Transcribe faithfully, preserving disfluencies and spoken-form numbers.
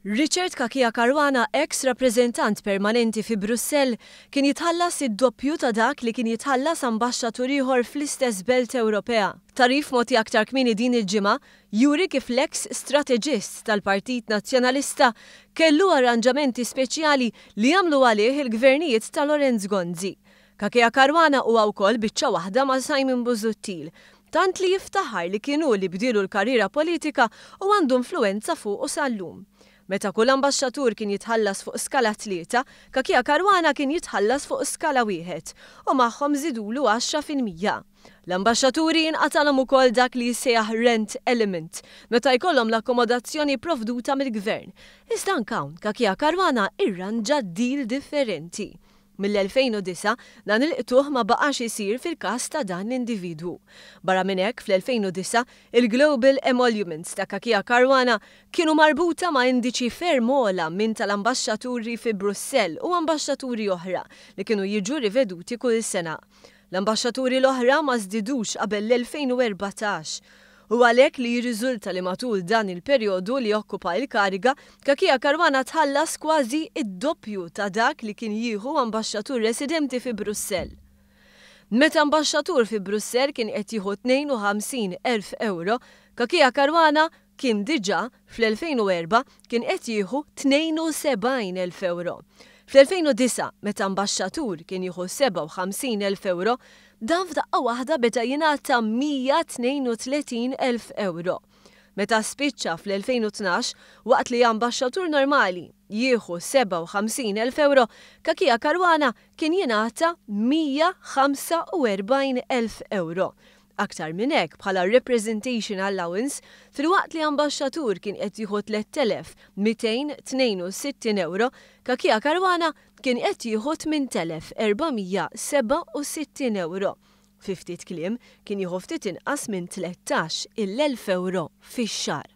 Richard Cachia Caruana, ex rappreżentant permanenti fi Brussell, kien jitħallas id-doppju ta' dak li kien jitħallas ambaxxatur ieħor fl-istess belt Ewropea. Tagħrif mogħti aktar kmieni din il-ġimgħa juri kif l-ex strateġist tal-Partit Nazzjonalista kellu arranġamenti speċjali li għamlu għalih il-gvernijiet ta' Lawrence Gonzi. Cachia Caruana huwa wkoll biċċa waħda ma' Simon Busuttil, tant li jiftaħar li kienu li bdielu l-karriera politika u għandu influenza fuqu sal-lum. Meta kull ambaxxatur kien jitħallas fuq skala tlieta, Cachia Caruana kien jitħallas fuq skala wieħed u magħhom żidulu għaxra fil-mija. L-ambaxxaturi jinqatalhom ukoll dak li jissejjaħ rent element meta jkollhom l-akkomodazzjoni provduta mill-gvern. Iżda anke hawn Cachia Caruana irranġa deal differenti. Mill-elfejn u disgħa dan il-qtuħ ma baqax isir fil-każ ta' dan l-individwu. Barra minn hekk, fl-elfejn u disgħa il-Global Emoluments ta' Cachia Caruana kienu marbuta ma' indiċi ferm ogħla minn tal-ambaxxaturi fi Brussell u ambaxxaturi oħra li kienu jiġu riveduti kull sena. L-ambaxxaturi l-oħra ma żdidux qabel l-elfejn u erbatax. U għalhekk li jirriżulta li matul dan il-perjodu li okkupa il-kariga, Cachia Caruana tħallas kważi id-doppju ta' dak li kien jieħu ambaxxatur residenti fi Brussell. Meta ambaxxatur fi Brussell kien qed jieħu tnejn u ħamsin elf euro, Cachia Caruana kien diġà fl-elfejn u erba' kien qed jieħu tnejn u sebgħin elf euro. Fl-elfejn u disgħa, meta ambaxxatur kien jieħu sebgħa u ħamsin elf euro, dan f'daqqa waħda beda jingħata mija tnejn u tletin elf euro. Meta spiċċa fl-elfejn u tnax, waqt li ambaxxatur normali jieħu sebgħa u ħamsin elf euro, Cachia Caruana kien jingħata mija ħamsa u erbgħin elf euro. Aktar minn hekk bħala representation allowance, filwaqt li ambaxxatur kien qed jieħu tlett elef mitejn tnejn u sittin euro, Cachia Caruana kien qed jieħu tmien elef erbamija seba' u sittin euro. Fi ftit kliem kien jieħu ftit inqas minn tlettax il-elf euro fix-xahar.